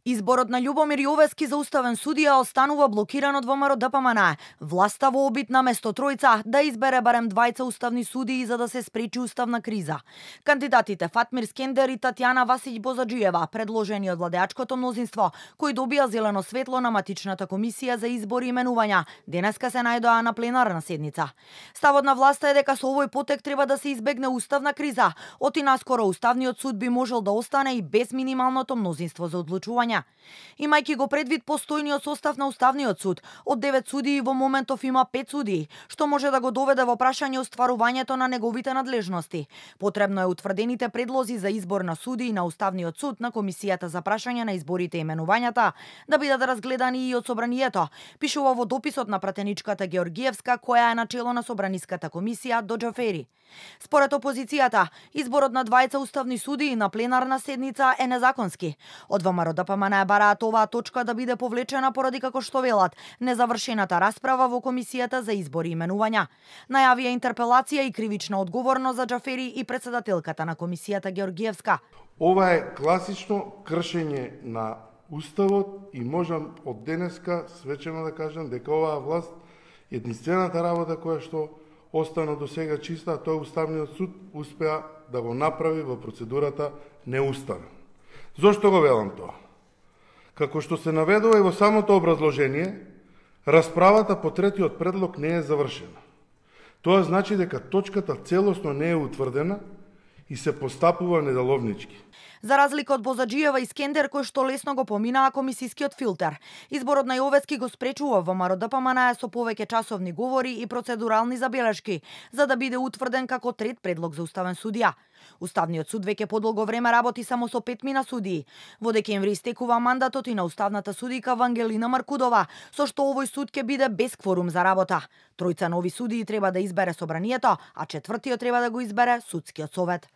Изборот на Љубомир Јовески за уставен судија останува блокиран од ВМРО ДПМН. Власта во обид на место тројца да избере барем двајца уставни судии за да се спречи уставна криза. Кандидатите Фатмир Скендер и Татјана Васиќ Бозаџиева, предложени од владеачкото мнозинство, кои добија зелено светло на матичната комисија за избори и именувања, денеска се најдоа на пленарна седница. Ставот на власта е дека со овој потек треба да се избегне уставна криза. Оти наскоро уставниот суд би можел да остане и без минималното мнозинство за одлучување. Имајќи го предвид постојниот состав на уставниот суд, од 9 судии во моментов има 5 судии, што може да го доведе во прашање остварувањето на неговите надлежности. Потребно е утврдените предлози за избор на судии на уставниот суд на комисијата за прашање на изборите и именувањата да бидат разгледани и од собранието, пишува во дописот на пратеничката Георгиевска, која е начело на собраниската комисија до Џафери. Според опозицијата, изборот на двајца уставни судии на пленарна седница е незаконски. Од ВМРО ДПМН бараат оваа точка да биде повлечена поради, како што велат, незавршената расправа во комисијата за избори и именувања. Најавија интерпелација и кривична одговорност за Џафери и председателката на комисијата Георгиевска. Ова е класично кршење на Уставот и можам од денеска свечено да кажам дека оваа власт единствената работа која што остана до сега чиста, тој Уставниот суд успеа да го направи во процедурата неуставен. Зошто го велам тоа? Како што се наведува и во самото образложение, расправата по третиот предлог не е завршена. Тоа значи дека точката целосно не е утврдена и се постапува недаловнички. За разлика од Бозаџиева и Скендер, кој што лесно го поминаа комисискиот филтер, изборот на Јовески го спречува ВМРО ДПМН со повеќе часовни говори и процедурални забелешки, за да биде утврден како трет предлог за уставен судија. Уставниот суд веќе подолго време работи само со 5 мина судии. Во декември истекува мандатот и на уставната судика Вангелина Маркудова, со што овој суд ќе биде без кворум за работа. Тројца нови судии треба да избере собранието, а четвртиот треба да го избере судскиот совет.